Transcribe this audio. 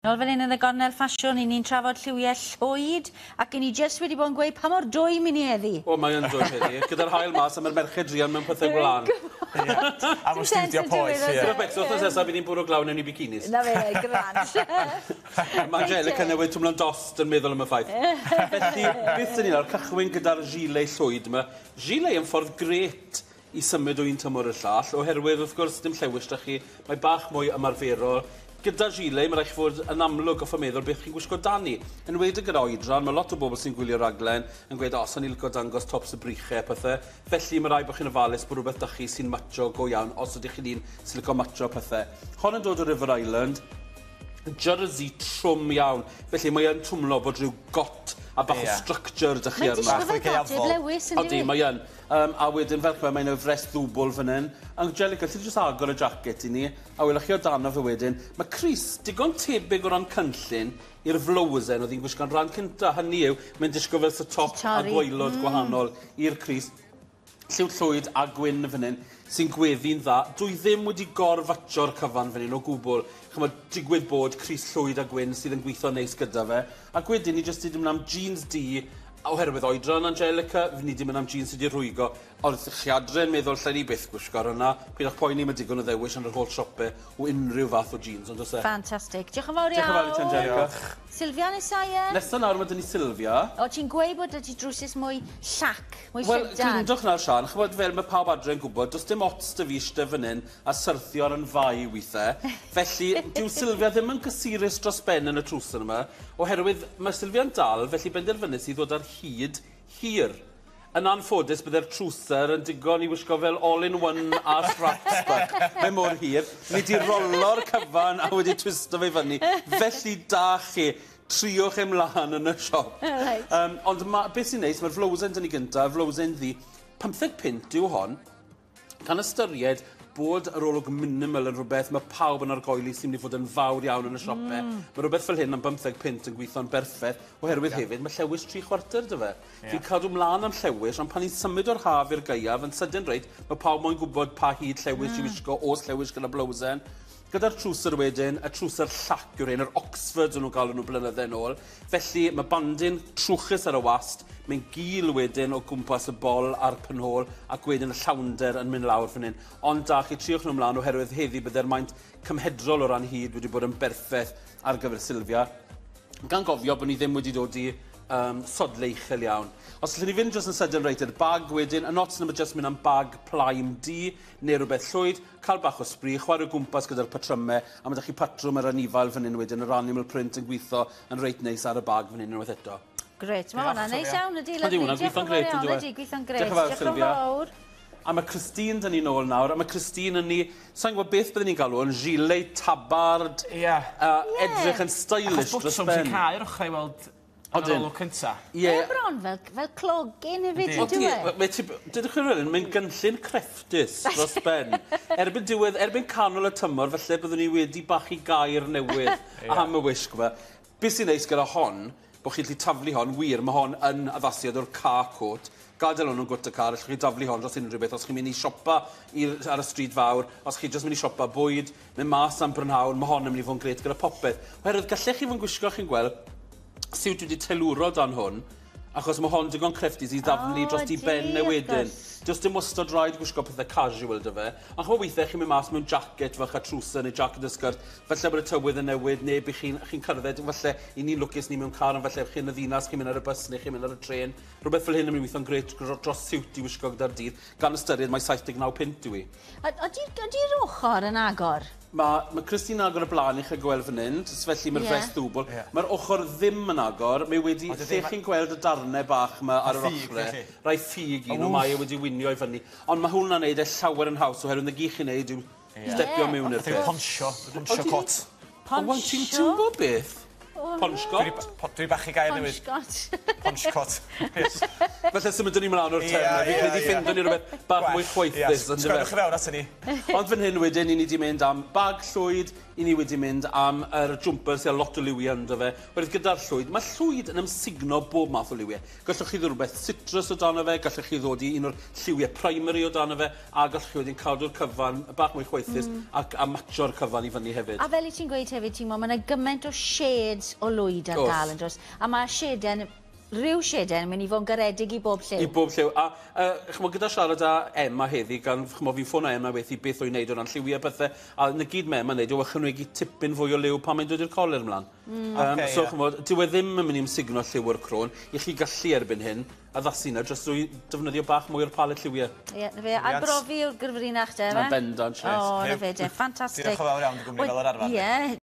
Nôl fan hyn yn y gornel ffasiwn, 'yn ni'n trafod lliwiau llwyd, ac 'yn ni jyst wedi bod yn gweud pa mor dwym 'yn ni heddi. O, mae yn dwym heddi. Gyda'r haul mas a mae'r merched druan mewn pethau gwlân. Ie. A mewn stiwdio poeth, ie. Gwybod beth, wythnos nesa bydd hi'n bwrw glaw newn ni bikinis. Na fe, grand. Mae Angelica newydd twmlo'n dost yn meddwl am y ffaith. Felly, beth sy'n ni nawr, cychwyn gyda'r gilet llwyd yma. Gilet yn ffordd grêt i symud o un tymor i'r llall, oherwydd wrth gwrs dim llewis 'da chi, mae bach mwy ymarferol. Gyda gilet, mae rhaid chi fod yn amlwg goffo meddwl beth chi'n gwisgo dani. Yn enwedig gyda oedran, mae lot o bobl sy'n gwylio raglen yn gweud, o, sa'n i'n licio dangos tops y brychau a pethau. Felly mae rhaid bod chi'n ofalus bod rhywbeth 'da chi sy'n matcho go iawn, os ydych chi'n un sy'n licio matcho pethau. Hon yn dod o River Island, jersey trwm iawn. Felly mae yn twmlo bod rhyw got a bach o structure 'da chi Mae'n arno. disgwyl fel dodrefn Lewis, yn Odi, dyw e? mae yn. A wedyn fel chwe, mae 'na frest ddwbl fan hyn. Angelica, alli di jyst agor y jacket i ni, a welwch chi o dano fe wedyn. Mae crys digon tebyg o ran cynllun i'r flowsen oedd hi'n gwisgo'n rhan cynta. Hynny yw, mae'n disgwyl fel sy top a gwaelod gwahanol i'r crys. Lliw llwyd a gwyn fan hyn, sy'n gweddi'n dda. Dwi ddim wedi gorfatsio'r cyfan fan hyn o gwbl. Ch'mod, digwydd bod crys llwyd a gwyn sydd yn gweithio'n neis gyda fe. Ac wedyn ni jyst 'di mynd am jeans du, oherwydd oedran Angelica, ni 'di mynd am jeans sy 'di rhwygo. Ond os chi adre yn meddwl lle ni byth gwisgo ar hwnna, pidwch poeni, mae digon o ddewis yn yr holl siope o unrhyw fath o jeans, ond oes e? Ffantastig. Diolch yn fawr iawn. Diolch yn fawr i ti, Angelica. Diolch. Sylvia nesa, ie? Nesa nawr mae 'da ni Sylvia. O, ti'n gweud bod 'da ti drwsus mwy llac, mwy Wel, llydan. gryndwch nawr, Siân, ch'mod fel mae pawb adre yn gwybod, does dim ots 'da fi ishte fan hyn a syrthio ar 'yn fai withe. Felly, dyw Sylvia ddim yn gysurus dros ben yn y trwser yma, oherwydd mae Sylvia'n dal, felly benderfynais i ddod ar hyd hir. Yn anffodus, bydde'r trwser yn digon i wisgo fel all-in-one a straps bach. Mae mor hir. Ni 'di rolo'r cyfan a wedi twisto fe fyny. Felly da chi. Triwch e mlaen yn y siop. Reit. Ond ma, beth sy'n neis, mae'r flowsen 'da ni gynta, y flowsen ddu. 15 punt yw hon. Gan ystyried bod yr olwg minimal yn rhywbeth mae pawb yn argoeli sy'n mynd i fod yn fawr iawn yn y siope. Mae rhywbeth fel hyn am 15 punt yn gweithio'n berffaith, oherwydd hefyd mae llewis 3/4 'da fe. Fi'n cadw mlaen am llewis, ond pan ni'n symud o'r haf i'r gaeaf, yn sydyn reit, mae pawb moyn gwybod pa hyd llewis i wisgo, os llewis gyda blowsen. Gyda'r trwser wedyn, y trwser llac yw'r un, yr Oxfords o'n nhw'n galw nhw blynydde nôl. Felly mae bandyn trwchus ar y wast, mae'n gul wedyn o gwmpas y bol a'r penhôl, ac wedyn y llawnder yn mynd lawr fan hyn. Ond da, chi triwch nhw ymlaen oherwydd heddi bydde'r maint cymhedrol o ran hyd wedi bod yn berffaith ar gyfer Sylvia. Gan gofio bod ni ddim wedi dod i sodle uchel iawn. Os allwn ni fynd jyst yn sydyn reit i'r bag wedyn, y nots yma jyst mynd am bag plaen du neu rhywbeth llwyd, cael bach o sbri, chwarae o gwmpas gyda'r patrymau, a mae 'da chi patrwm yr anifail fan hyn wedyn, yr animal print yn gweithio yn reit neis ar y bag fan hyn unwaith eto. Grêt, mae hwnna'n neis iawn ydi, Ydi, lyfli. hwnna'n Diolch yn gweithio'n fawr grêt, iawn, yndyw e? ydi, gweithio'n grêt. Diolch yn fawr, Diolch yn Sylvia. fawr. A mae Christine 'da ni nôl nawr, a mae Christine yn ni, sa'n gwybod beth byddwn ni'n galw yn gilet tabard, edrych yn stylish Achos dros botwm ben. sy'n cau'r ochrau i weld yn yr olwg cynta. Ie. Mae bron fel clogyn hefyd, Yndi. yndyw e? Odi, mae ti, dydych chi'n rhywun, mae'n gynllun crefftus dros ben. Erbyn diwedd, erbyn canol y tymor, falle byddwn ni wedi bachu gair newydd am y wisg yma. Beth sy'n neis gyda hon, bod chi'n gallu taflu hon, wir, mae hon yn addasiad o'r car coat. Gadael hwn yn gwt y car, allwch chi daflu hon dros unrhyw beth. Os chi'n mynd i siopa ar y stryd fawr, os chi jyst mynd i siopa bwyd, mynd mas am brynhawn, mae hon yn mynd i fod yn grêt gyda popeth. Oherwydd gallech chi fod yn gwisgo, chi'n gweld, siwt wedi teilwro dan hwn, achos mae hon digon crefftus i ddaflu dros i ben e wedyn. Does dim wastad rhaid gwisgo pethau casual 'da fe. Ond ch'mod weithiau chi'n mynd mas mewn jacket fach a trwser neu jacket a sgert, falle bod y tywydd yn newid neu bych chi'n chi cerdded, falle i ni'n lwcus ni mewn car, ond falle chi'n y ddinas, chi'n mynd ar y bus neu chi'n mynd ar y trên. Rhywbeth fel hyn yn mynd i weithio'n grêt dros siwt i wisgo gyda'r dydd, gan ystyried mai 79 punt yw i. Ydy'r ochr yn agor? Mae Christine yn agor y blaen i chi gweld fan hyn, felly mae'r frest ddwbl. Mae'r ochr ddim yn agor, mae wedi, lle chi'n gweld y darnau bach yma ar yr ochrau, rai ffug un, mae e wedi winio i fyny. Ond mae hwnna'n neud e llawer yn haws, oherwydd na gyd chi'n neud yw stepio mewn i'r peth. Ponsio, ponsio cot. Ponsio? Ti'n gwybod beth? Ponchcot. Dwi bachu gair newydd. Ponchcot. Ponchcot. Felly symudwn ni mlaen o'r term. Fi'n credu ffindwn ni rhywbeth bach mwy chwaethus. Sgwennwch chi fewn ato ni. Ond fan hyn wedyn, i ni wedi mynd am bag llwyd, i ni wedi mynd am yr jumper sydd â lot o liwiau ynddo fe. Wedyn gyda'r llwyd, mae llwyd yn amsugno bob math o liwiau. Gallwch chi ddod rhywbeth citrus o dan fe, gallwch chi ddod i un o'r lliwiau primary o dan fe, a gallwch chi wedyn cadw'r cyfan bach mwy chwaethus ac a matcho'r cyfan i fyny hefyd. A fel i ti'n gweud hefyd, ti'n mae yna gymaint o shades o lwyd ar gael yn dros. A mae sheden, rhyw sheden yn mynd i fod yn garedig i bob lliw. I bob lliw. A ch'mo, gyda siarad â Emma heddi, gan ch'mo, fi'n ffono Emma wethi beth o'n wneud o ran lliwiau pethau, a na gyd mae Emma'n wneud yw ychwanegu tipyn fwy o liw pan mae'n dod i'r coler ymlaen. So, ch'mo, dyw e ddim yn mynd i ymsugno lliw o'r crôn, i chi gallu erbyn hyn addasu na dros drwy defnyddio bach mwy o'r palet lliwiau. Ie, na fe. Arbrofi yw'r gyfrinach de, Na bendant, O, na fe de. Ffantastig. Diolch yn fawr iawn dy gwmni fel yr arfer. Ie.